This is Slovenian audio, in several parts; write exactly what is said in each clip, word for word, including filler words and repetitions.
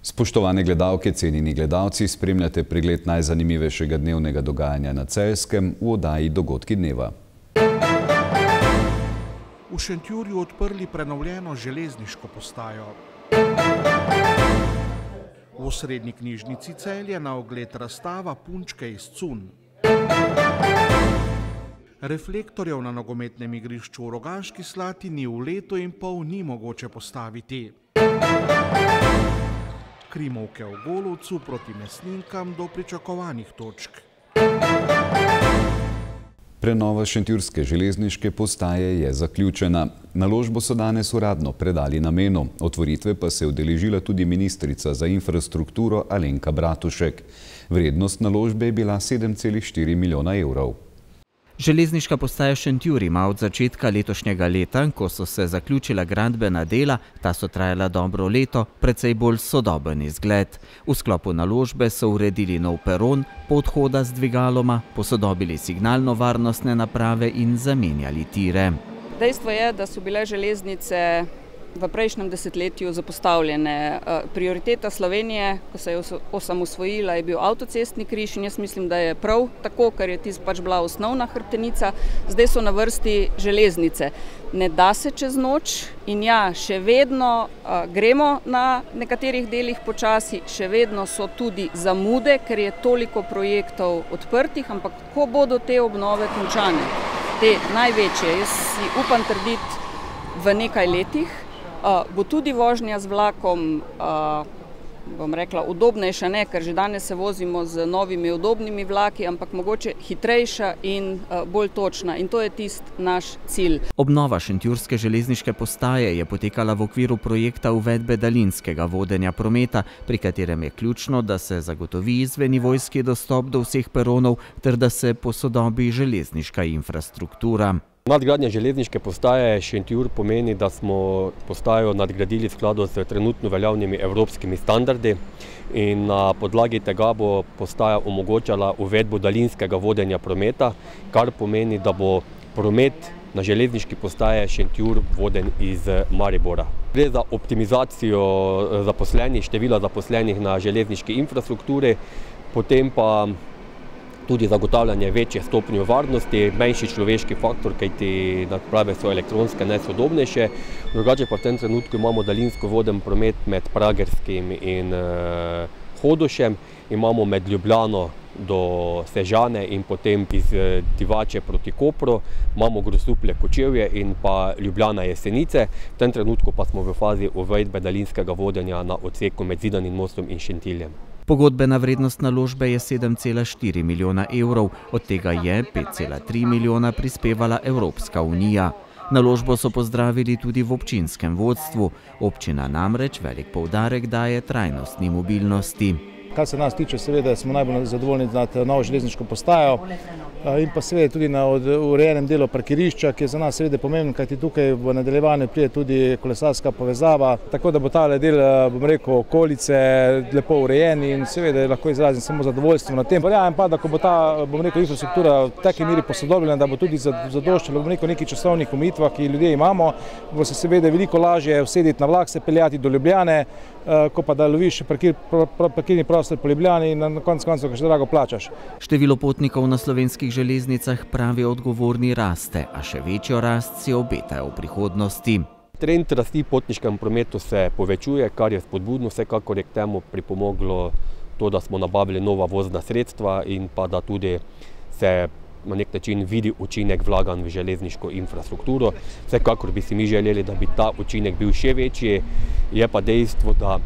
Spoštovane gledalke, cenjeni gledalci, spremljate pregled najzanimivejšega dnevnega dogajanja na Celjskem v oddaji Dogodki dneva. V Šentjurju odprli prenovljeno železniško postajo. V osrednji knjižnici Celje na ogled razstava Punčke iz cunj. Reflektorjev na nogometnem igrišču v Rogaški Slatini v letu in pol ni mogoče postaviti. Krimovke v Golovcu proti Mesninkam do pričakovanih točk. Prenova šentjurske železniške postaje je zaključena. Naložbo so danes uradno predali namenu, otvoritve pa se je udeležila tudi ministrica za infrastrukturo Alenka Bratušek. Vrednost naložbe je bila sedem celih štiri milijona evrov. Železniška postaja Šentjur ima od začetka letošnjega leta, ko so se zaključila gradbena dela, ta so trajala dobro leto, precej bolj sodoben izgled. V sklopu naložbe so uredili nov peron, podhoda z dvigaloma, posodobili signalno-varnostne naprave in zamenjali tire. Dejstvo je, da so bile železnice v prejšnjem desetletju zapostavljene. Prioriteta Slovenije, ko se je osamosvojila, je bil avtocestni križ in jaz mislim, da je prav tako, ker je tisto pač bila osnovna hrbtenica. Zdaj so na vrsti železnice. Ne da se čez noč in ja, še vedno a, gremo na nekaterih delih počasi, še vedno so tudi zamude, ker je toliko projektov odprtih, ampak ko bodo te obnove končane, te največje, jaz si upam trditi v nekaj letih, Uh, bo tudi vožnja z vlakom, uh, bom rekla, udobnejša, ne, ker že danes se vozimo z novimi udobnimi vlaki, ampak mogoče hitrejša in uh, bolj točna. In to je tisti naš cilj. Obnova šentjurske železniške postaje je potekala v okviru projekta uvedbe daljinskega vodenja prometa, pri katerem je ključno, da se zagotovi izvennivojski dostop do vseh peronov ter da se posodobi železniška infrastruktura. Nadgradnja železniške postaje Šentjur pomeni, da smo postajo nadgradili v skladu s trenutno veljavnimi evropskimi standardi in na podlagi tega bo postaja omogočala uvedbo daljinskega vodenja prometa, kar pomeni, da bo promet na železniški postaje Šentjur voden iz Maribora. Gre za optimizacijo zaposlenih, števila zaposlenih na železniški infrastrukturi, potem pa tudi zagotavljanje večje stopnje varnosti, manjši človeški faktor, kajti naprave so elektronske, najsodobnejše. Drugače pa v tem trenutku imamo daljinsko voden promet med Pragerskim in uh, Hodošem, imamo med Ljubljano do Sežane in potem iz Divače proti Kopru, imamo Grosuplje Kočevje in pa Ljubljana Jesenice. V tem trenutku pa smo v fazi uvedbe daljinskega vodenja na odseku med Zidanim mostom in Šentiljem. Pogodbena vrednost naložbe je sedem celih štiri milijona evrov, od tega je pet celih tri milijona prispevala Evropska unija. Naložbo so pozdravili tudi v občinskem vodstvu. Občina namreč velik poudarek daje trajnostni mobilnosti. Kar se nas tiče, seveda smo najbolj zadovoljni nad novo železniško postajo in pa seveda tudi na urejenem delu parkirišča, ki je za nas seveda pomemben, kajti tukaj v nadaljevanju pride tudi kolesarska povezava, tako da bo ta del, bom rekel, okolice lepo urejen in seveda lahko izrazim samo zadovoljstvo na tem. Verjamem pa, da ko bo ta, bom rekel, infrastruktura v taki meri posodobljena, da bo tudi zadoščalo, bom rekel, nekih časovnih omejitvah, ki ljudje imamo, bo se seveda veliko lažje usediti na vlak, se peljati do Ljubljane, ko pa da loviš parkir, parkirni prostor po Ljubljani in na koncu koncev še drago plačaš. Število potnikov na slovenskih železnicah, pravi odgovorni, raste, a še večjo rast si obetajo v prihodnosti. Trend rasti potniškem prometu se povečuje, kar je spodbudno, vsekakor je k temu pripomoglo to, da smo nabavili nova vozna sredstva in pa da tudi se na nek način vidi učinek vlaganj v železniško infrastrukturo. Vsekakor bi si mi želeli, da bi ta učinek bil še večji, je pa dejstvo, da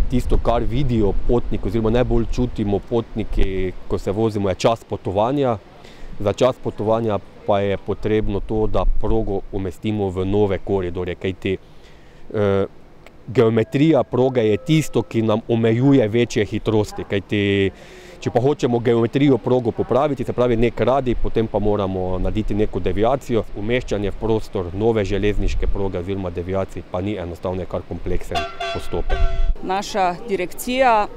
tisto, kar vidijo potniki oziroma najbolj čutimo potniki, ko se vozimo, je čas potovanja. Za čas potovanja pa je potrebno to, da progo umestimo v nove koridorje, kajti eh, geometrija proge je tisto, ki nam omejuje večje hitrosti, kajti če pa hočemo geometrijo progo popraviti, se pravi nek radij, potem pa moramo narediti neko deviacijo. Umeščanje v prostor nove železniške proge oziroma deviacij pa ni enostavno, kar kompleksen postopek. Naša direkcija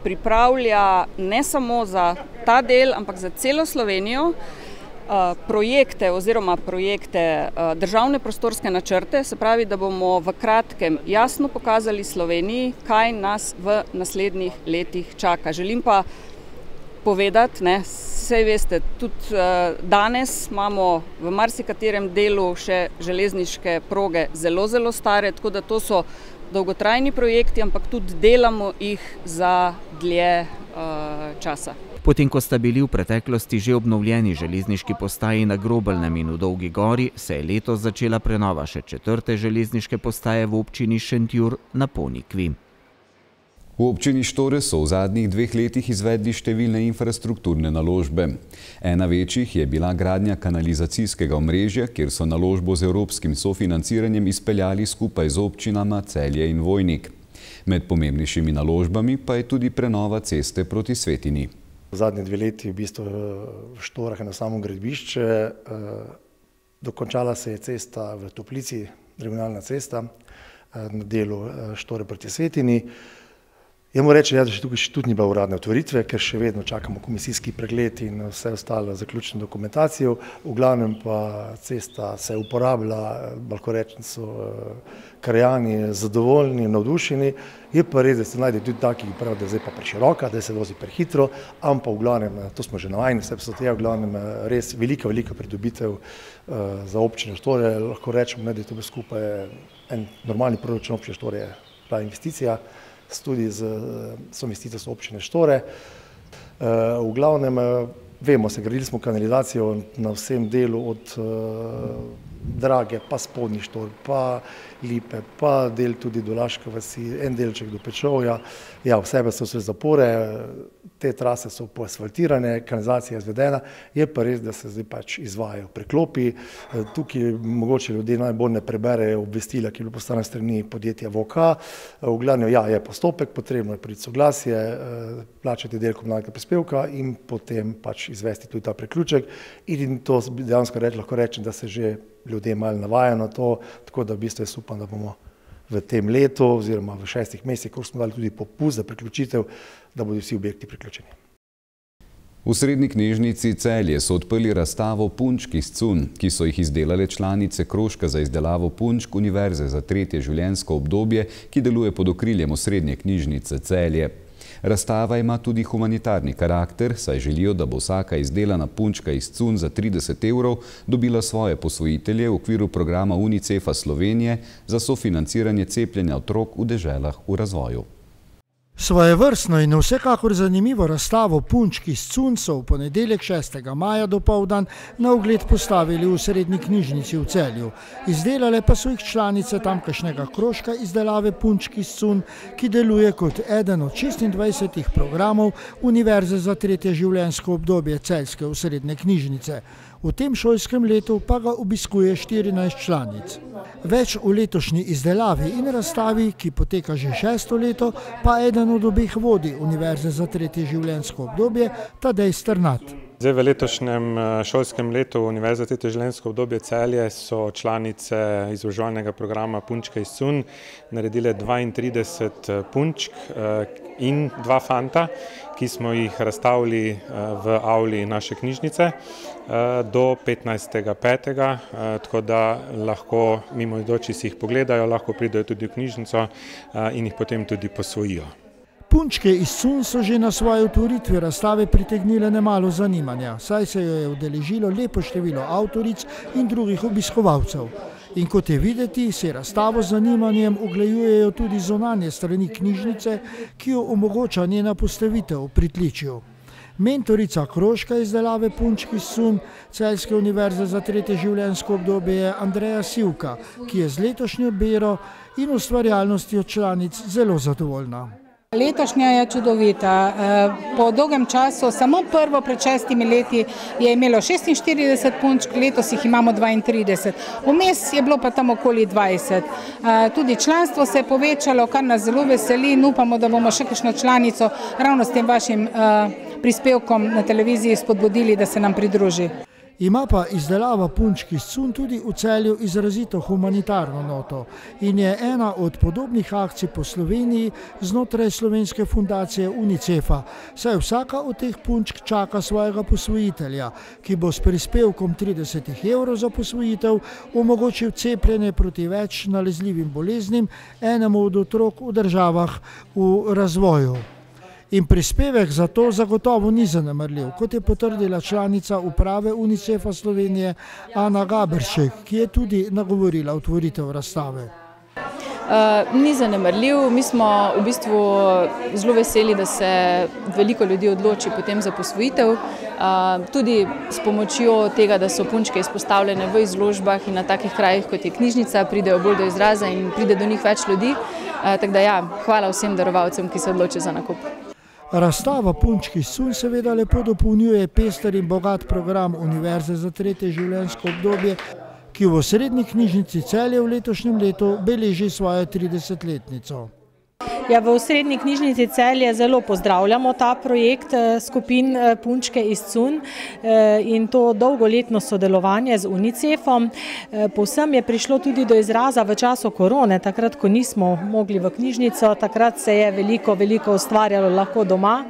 pripravlja ne samo za ta del, ampak za celo Slovenijo projekte oziroma projekte državne prostorske načrte, se pravi, da bomo v kratkem jasno pokazali Sloveniji, kaj nas v naslednjih letih čaka. Želim pa povedati, ne, saj veste, tudi danes imamo v marsikaterem delu še železniške proge zelo, zelo stare, tako da to so dolgotrajni projekti, ampak tudi delamo jih za dlje časa. Potem, ko sta bili v preteklosti že obnovljeni železniški postaji na Grobelnem in v Dolgi gori, se je letos začela prenova še četrte železniške postaje v občini Šentjur na Ponikvi. V občini Štore so v zadnjih dveh letih izvedli številne infrastrukturne naložbe. Ena večjih je bila gradnja kanalizacijskega omrežja, kjer so naložbo z evropskim sofinanciranjem izpeljali skupaj z občinama Celje in Vojnik. Med pomembnejšimi naložbami pa je tudi prenova ceste proti Svetini. V zadnji dve leti v bistvu v Štorah na samo gradbišče. Dokončala se je cesta v Toplici, regionalna cesta na delu Štore proti Svetini. Jaz moram reči, da še tukaj tudi ni bila uradne otvoritve, ker še vedno čakamo komisijski pregled in vse ostalo zaključno dokumentacijo. V glavnem pa cesta se uporablja, lahko rečem, so krajani zadovoljni, navdušeni. Je pa res, da se najde tudi taki, ki pravijo, da je zdaj pa preširoka, da se vozi prehitro, ampak v glavnem, to smo že navajeni, vse so te, v glavnem res velika, velika pridobitev za občino Štore. Lahko rečemo, da je to skupaj en normalni proračun občine Štore, ta investicija, tudi z soinvestitorstvom občine Štore. V glavnem, vemo se, gradili smo kanalizacijo na vsem delu od Drage, pa Spodnji Štor, pa Lipe, pa del tudi do Laške vasi, en delček do Pečovja. Ja, vse so vse zapore, te trase so poasfaltirane, kanalizacija je izvedena, je pa res, da se zdaj pač izvajajo preklopi. Tukaj mogoče ljudje najbolj ne preberejo obvestila, ki je bilo poslano strani podjetja V O K. V glavnem, ja, je postopek, potrebno je priti soglasje, plačati del komunalnega prispevka in potem pač izvesti tudi ta priključek. In to dejansko reč, lahko rečem, da se že ljudje malo navajajo na to, tako da v bistvu jaz upam, da bomo v tem letu oziroma v šestih mesecih, ko smo dali tudi popust za priključitev, da bodo vsi objekti priključeni. V Srednji knjižnici Celje so odprli razstavo punčk iz cunj, ki so jih izdelale članice krožka za izdelavo punčk Univerze za tretje življenjsko obdobje, ki deluje pod okriljem Srednje knjižnice Celje. Razstava ima tudi humanitarni karakter, saj želijo, da bo vsaka izdelana punčka iz cunj za trideset evrov dobila svoje posvojitelje v okviru programa Unicefa Slovenije za sofinanciranje cepljenja otrok v deželah v razvoju. Svojevrstno in vsekakor zanimivo razstavo punčk iz cunj so v ponedeljek šestega maja dopoldan na ogled postavili v Srednji knjižnici v Celju. Izdelale pa so jih članice tamkajšnjega krožka izdelave punčk iz cunj, ki deluje kot eden od šestindvajsetih programov Univerze za tretje življenjsko obdobje Celjske osrednje knjižnice. V tem šolskem letu pa ga obiskuje štirinajst članic. Več v letošnji izdelavi in razstavi, ki poteka že šesto leto, pa eden od obeh vodi Univerze za tretje življenjsko obdobje, Tadej Strnad. Zdaj v letošnjem šolskem letu Univerze za tretje življenjsko obdobje Celje so članice izobraževalnega programa Punčke iz cunj naredile dvaintrideset punčk in dva fanta, ki smo jih razstavili v avli naše knjižnice do petnajstega petega, tako da lahko mimoidoči si jih pogledajo, lahko pridejo tudi v knjižnico in jih potem tudi posvojijo. Punčke iz cunj so že na svoji otvoritvi razstave pritegnile nemalo zanimanja, saj se jo je udeležilo lepo število avtoric in drugih obiskovalcev. In kot je videti, se razstavo z zanimanjem ogledujejo tudi zunanje strani knjižnice, ki jo omogoča njena postavitev v pritličju. Mentorica krožka izdelave punčk iz cunj Celjske univerze za tretje življenjsko obdobje je Andreja Sivka, ki je z letošnjo bero in ustvarjalnostjo članic zelo zadovoljna. Letošnja je čudovita. Po dolgem času, samo prvo pred šestimi leti je imelo šestinštirideset punčk, letos jih imamo dvaintrideset. Vmes je bilo pa tam okoli dvajset. Tudi članstvo se je povečalo, kar nas zelo veseli in upamo, da bomo še kakšno članico ravno s tem vašim prispevkom na televiziji spodbudili, da se nam pridruži. Ima pa izdelava punčk iz cunj tudi v Celju izrazito humanitarno noto in je ena od podobnih akcij po Sloveniji znotraj slovenske fundacije Unicefa, saj vsaka od teh punčk čaka svojega posvojitelja, ki bo s prispevkom trideset evrov za posvojitev omogočil cepljenje proti več nalezljivim boleznim enemu od otrok v državah v razvoju. In prispevek za to zagotovo ni zanemarljiv, kot je potrdila članica uprave Unicefa Slovenije Ana Gaberšek, ki je tudi nagovorila otvoritev razstave. Uh, ni zanemarljiv, mi smo v bistvu zelo veseli, da se veliko ljudi odloči potem za posvojitev, uh, tudi s pomočjo tega, da so punčke izpostavljene v izložbah in na takih krajih, kot je knjižnica, pridejo bolj do izraza in pride do njih več ljudi. Uh, tako da ja, hvala vsem darovalcem, ki se odločijo za nakup. Razstava punčk iz cunj seveda lepo dopolnjuje pester in bogat program Univerze za tretje življenjsko obdobje, ki v Osrednji knjižnici Celje v letošnjem letu beleži svojo tridesetletnico. Ja, v Osrednji knjižnici Celje zelo pozdravljamo ta projekt skupin Punčke iz cunj in to dolgoletno sodelovanje z Unicefom. Povsem je prišlo tudi do izraza v času korone, takrat, ko nismo mogli v knjižnico, takrat se je veliko, veliko ustvarjalo lahko doma.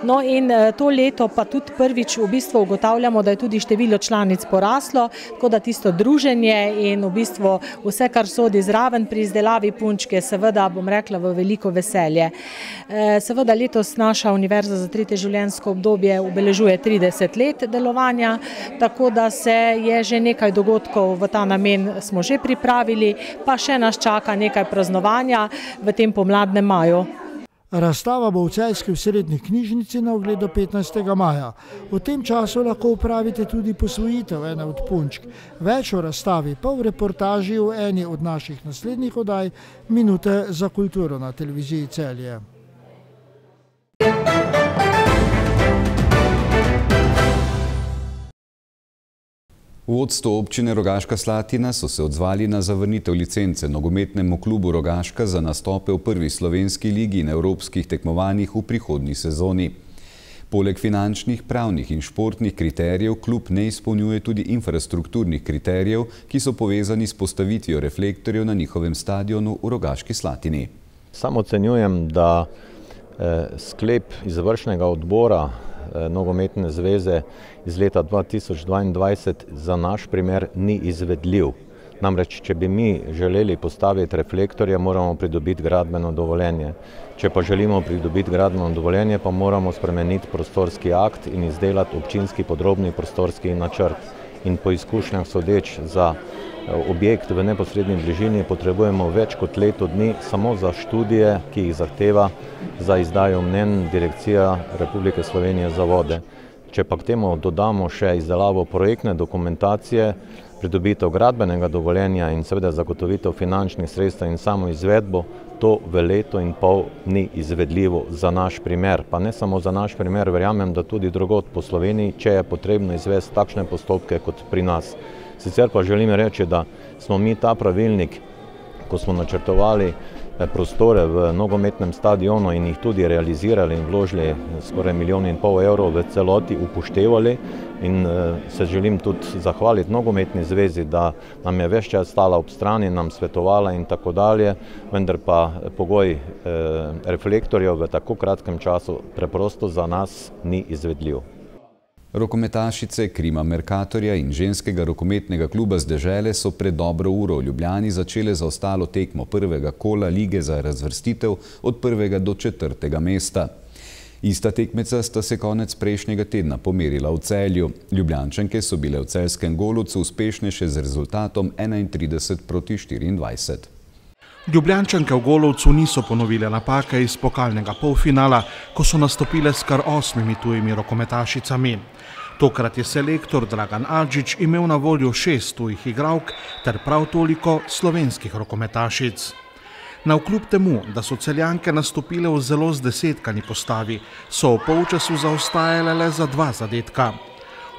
No in to leto pa tudi prvič v bistvu ugotavljamo, da je tudi število članic poraslo, tako da tisto druženje in v bistvu vse, kar sodi zraven pri izdelavi punčke, seveda bom rekla v veliko veselje. Seveda letos naša Univerza za tretje življenjsko obdobje obeležuje trideset let delovanja, tako da se je že nekaj dogodkov v ta namen smo že pripravili, pa še nas čaka nekaj praznovanja v tem pomladnem maju. Razstava bo v celjski Osrednji knjižnici na ogled do petnajstega maja. V tem času lahko upravite tudi posvojitev ene od punčk. Več o razstavi pa v reportaži v eni od naših naslednjih oddaj Minute za kulturo na televiziji Celje. V vodstvu občine Rogaška Slatina so se odzvali na zavrnitev licence nogometnemu klubu Rogaška za nastope v prvi slovenski ligi in evropskih tekmovanjih v prihodnji sezoni. Poleg finančnih, pravnih in športnih kriterijev klub ne izpolnjuje tudi infrastrukturnih kriterijev, ki so povezani s postavitvijo reflektorjev na njihovem stadionu v Rogaški Slatini. Sam ocenjujem, da sklep izvršnega odbora Nogometne zveze iz leta dva tisoč dvaindvajset za naš primer ni izvedljiv. Namreč, če bi mi želeli postaviti reflektorje, moramo pridobiti gradbeno dovoljenje. Če pa želimo pridobiti gradbeno dovoljenje, pa moramo spremeniti prostorski akt in izdelati občinski podrobni prostorski načrt. In po izkušnjah sodeč za objekt v neposredni bližini potrebujemo več kot leto dni samo za študije, ki jih zahteva za izdajo mnenj Direkcija Republike Slovenije za vode. Če pa k temu dodamo še izdelavo projektne dokumentacije, pridobitev gradbenega dovoljenja in seveda zagotovitev finančnih sredstev in samo izvedbo, to v leto in pol ni izvedljivo za naš primer. Pa ne samo za naš primer, verjamem, da tudi drugod po Sloveniji, če je potrebno izvesti takšne postopke kot pri nas. Sicer pa želim reči, da smo mi ta pravilnik, ko smo načrtovali prostore v nogometnem stadionu in jih tudi realizirali in vložili skoraj milijon in pol evrov v celoti, upoštevali in se želim tudi zahvaliti Nogometni zvezi, da nam je ves čas stala ob strani, nam svetovala in tako dalje, vendar pa pogoj reflektorjev v tako kratkem času preprosto za nas ni izvedljiv. Rokometašice Krima Mercatorja in ženskega rokometnega kluba z dežele so pred dobro uro v Ljubljani začele za ostalo tekmo prvega kola lige za razvrstitev od prvega do četrtega mesta. Ista tekmeca sta se konec prejšnjega tedna pomerila v Celju. Ljubljančanke so bile v celjskem Golovcu uspešnejše z rezultatom enaintrideset proti štiriindvajset. Ljubljančanke v Golovcu niso ponovile napake iz pokalnega polfinala, ko so nastopile s kar osmimi tujimi rokometašicami. Tokrat je selektor Dragan Adžič imel na voljo šest tujih igralk ter prav toliko slovenskih rokometašic. Navkljub temu, da so Celjanke nastopile v zelo zdesetkani postavi, so v polčasu zaostajale le za dva zadetka.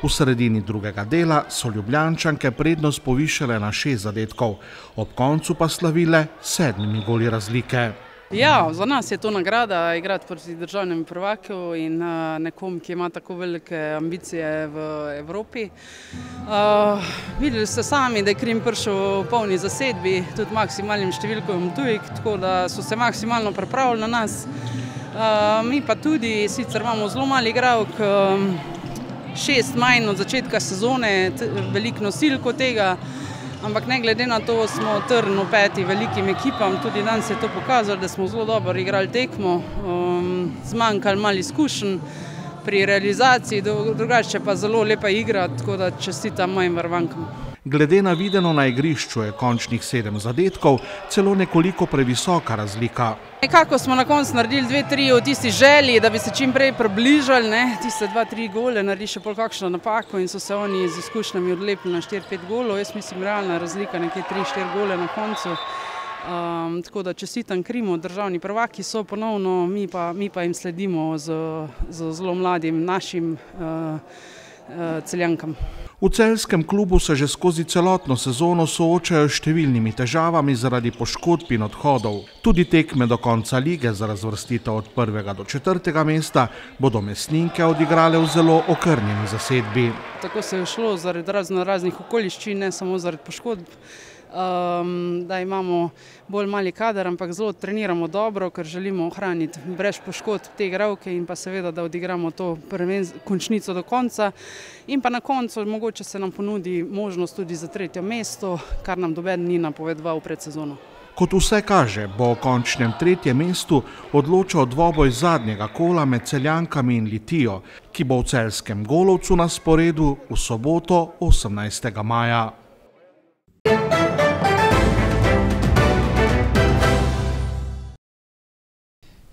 V sredini drugega dela so Ljubljančanke prednost povišale na šest zadetkov, ob koncu pa slavile sedmimi goli razlike. Ja, za nas je to nagrada igrati proti državnemu prvaku in uh, nekom, ki ima tako velike ambicije v Evropi. Uh, videli ste sami, da je Krim prišel v polni zasedbi, tudi maksimalnim številkom tujk, tako da so se maksimalno pripravili na nas. Uh, mi pa tudi, sicer imamo zelo mali igralk, um, šest manj od začetka sezone, veliko nosilko tega, ampak ne glede na to smo trn v peti velikim ekipam, tudi danes je to pokazalo, da smo zelo dobro igrali tekmo, um, zmanjkali malo izkušenj pri realizaciji, drugače pa zelo lepa igra, tako da čestitam mojim varvankam. Glede na videno na igrišču je končnih sedem zadetkov celo nekoliko previsoka razlika. Nekako smo na koncu naredili dve, tri v tisti želji, da bi se čim prej približali, ne, tiste dva, tri gole, naredi še pol kakšno napako in so se oni z izkušnjami odlepili na štiri, pet golov. Jaz mislim, realna razlika nekje tri, štiri gole na koncu. Um, tako da čestitam Krimu, državni prvaki so ponovno, mi pa, mi pa jim sledimo z, z zelo mladim našim uh, uh, Celjankam. V celjskem klubu se že skozi celotno sezono soočajo s številnimi težavami zaradi poškodb in odhodov. Tudi tekme do konca lige za razvrstitev od prvega do četrtega mesta bodo Mesninke odigrale v zelo okrnjeni zasedbi. Tako se je šlo zaradi razno raznih okoliščin, ne samo zaradi poškodb, um, da imamo bolj mali kader, ampak zelo treniramo dobro, ker želimo ohraniti brez poškodb te igralke in pa seveda, da odigramo to končnico do konca. In pa na koncu mogoče se nam ponudi možnost tudi za tretje mesto, kar nam noben ni napovedoval pred sezono. Kot vse kaže, bo o končnem tretjem mestu odločal dvoboj zadnjega kola med Celjankami in Litijo, ki bo v celjskem Golovcu na sporedu v soboto osemnajstega maja.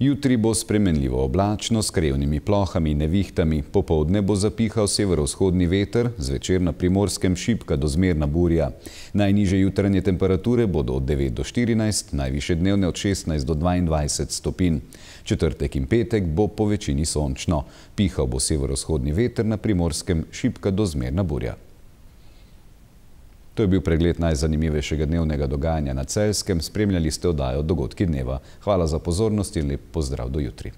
Jutri bo spremenljivo oblačno s krevnimi plohami in nevihtami, popoldne bo zapihal severovzhodni veter, zvečer na Primorskem šibka do zmerna burja. Najnižje jutranje temperature bodo od devet do štirinajst, najvišje dnevne od šestnajst do dvaindvajset stopinj. Četrtek in petek bo po večini sončno. Pihal bo severovzhodni veter, na Primorskem šibka do zmerna burja. To je bil pregled najzanimivejšega dnevnega dogajanja na Celjskem. Spremljali ste oddajo Dogodki dneva. Hvala za pozornost in lep pozdrav do jutri.